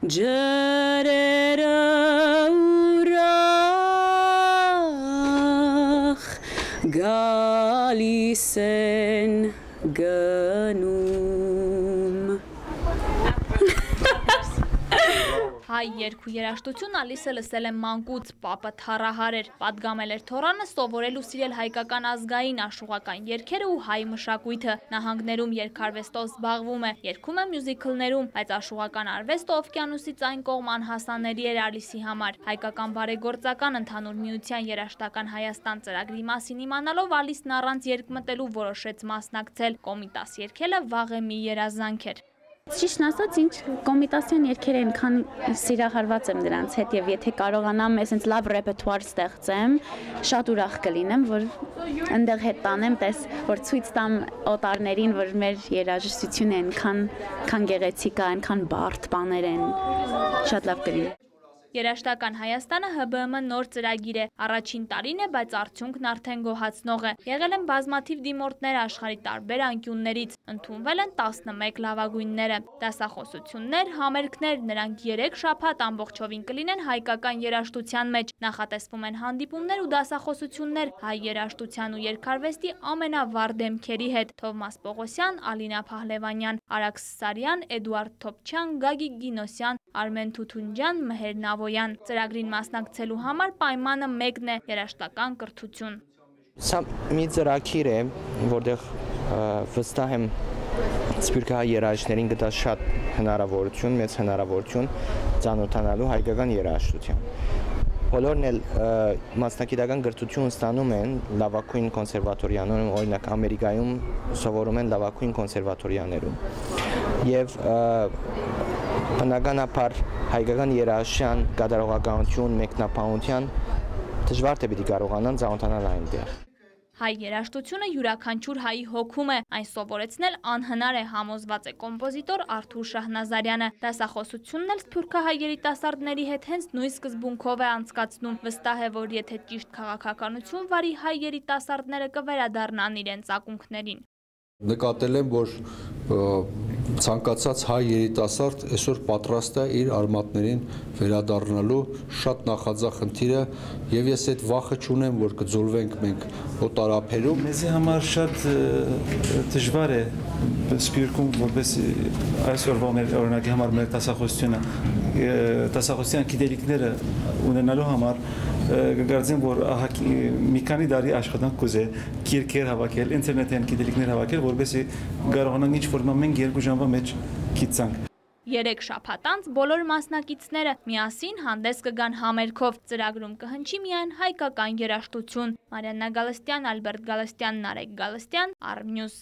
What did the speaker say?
ջրերը ուրախ գալիս են գնում Հայ երգ ու երաժշտություն Ալիսը լսել է մանկուց, պապը թառահար էր, պատգամել էր թոռանը, սովորել ու սիրել հայկական ազգային աշխուղական երգերը ու հայ մշակույթը, նահանգներում երգարվեստով զբաղվում է, երգում է մյուզիքլներում, բայց աշխուղական արվեստը օվկիանոսից այն կողմ անհասանելի էր Ալիսի համար։ Հայկական բարեգործական ընդհանուր միության երաժշտական Հայաստան ծրագրի մասին իմանալով Ալիսն առանց երգ մտելու որոշեց մասնակցել, կոմիտաս երգելը վաղ է մի երազանք էր։ Ճիշտն ասած, ինձ կոմիտասիոն երգերը այնքան սիրահարված եմ դրանց հետ եւ եթե կարողանամ այսպես լավ ռեպերտուար ստեղծեմ, շատ ուրախ կլինեմ, որ այնտեղ հետ տանեմ, որ ցույց տամ օտարներին, որ մեր երաժշտությունը այնքան գեղեցիկ է, այնքան բարդ բաներ են, շատ լավ կլինի։ Երաժշտական Հայաստանը ՀԲԸՄ նոր ծրագիր է, առաջին տարին է, բայց արդյունքն արդեն գոհացնող է։ Եղել են բազմաթիվ դիմորդներ աշխարհի տարբեր անկյուններից, ընդունվել են 11 լավագույնները։ Դասախոսություններ, համերգներ, նրանք 3 շաբաթ ամբողջովին կլինեն հայկական երաժշտության մեջ։ Նախատեսվում են հանդիպումներ ու դասախոսություններ հայ երաժշտության ու երգարվեստի ամենավառ դեմքերի հետ՝ Թովմաս Պողոսյան, Ալինա Փահլևանյան, Արաքս Սարյան, Էդուարդ Թոփչյան, Գագիկ Գինոսյան, Արմեն Թութունջյան, Մհեր Նավոյան։ Ծրագրին մասնակցելու համար պայմանը մեկն է՝ երաժշտական կրթություն։ Սա մի ծրագիր է, որտեղ վստահ եմ սփյուռքահայ երաժիշտներին կտա շատ հնարավորություն, մեծ հնարավորություն ծանոթանալու հայկական երաժշտության։ Բոլորն էլ մասնակիտական կրթություն ստանում են լավագույն կոնսերվատորիաներում, օրինակ Ամերիկայում սովորում են լավագույն կոնսերվատորիաներում։ Եվ բնականաբար հայկական երաժշտության կատարողականություն, մեկնաբանության դժվար թե պիտի կարողանան ծանոթանալ այնտեղ։ Հայ երաժշտությունը յուրաքանչյուր հայի հոգում է, այն սովորեցնել անհնար է, համոզված է կոմպոզիտոր Արթուր Շահնազարյանը։ Դասախոսությունն էլ սփյուռքահայ երիտասարդների հետ հենց նույն սկզբունքով է անցկացնում, վստահ է, որ եթե ճիշտ քաղաքականություն վարի, հայ երիտասարդները կվերադառնան իրենց ակունքներին։ Նկատել եմ, որ ցանկացած հայ երիտասարդ այսօր պատրաստ է իր արմատներին վերադառնալու, շատ նախաձախնդիր է եւ ես այդ վախը չունեմ, որ կձուլվենք մենք օտարափերում։ Մեզի համար շատ դժվար է սփյուռքում որպես այսօրվա մեր օրինակի համար մեր դասախոսության գիտելիքները ունենալու համար կգարձեմ, որ մի քանի տարի աշխատանք կուզե գիրքեր հավաքել, ինտերնետյան գիտելիքներ հավաքել, որպեսզի կարողանանք ինչ-որ մենք 2 ժամվա մեջ գիտենք։ 3 շաբաթ անց բոլոր մասնակիցները միասին հանդես կգան համերգով, ծրագրում կհնչի միայն հայկական երաժշտություն։ Մարիաննա Գալստյան, Ալբերտ Գալստյան, Նարեկ Գալստյան, Arnews։